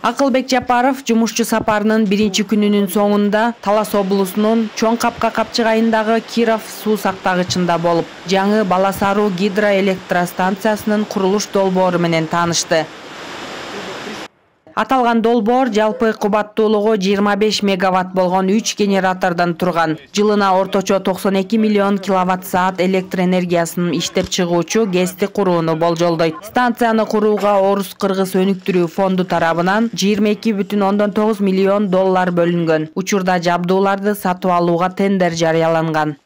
Акылбек Жапаров жумушчу сапарынын биринчи күнүнүн соңунда Талас облусунун Чоң Капка капчыгайындагы Киров суу сактагычында болуп, жаңы Баласаруу гидроэлектростанциясынын курулуш долбоору менен таанышты. Аталган долбоор жалпы кубаттуулугу 25 мегаватт болгон 3 генератордон турган. Жылына орточо 92 миллион киловатт-саат электр энергиясын иштеп чыгуучу ГЭСти курууну болжолдойт. Станцияны курууга Орус-Кыргыз өнүктүрүү фонду тарабынан 22,9 миллион доллар бөлүнгөн. Учурда жабдууларды сатып алууга тендер жарыяланган.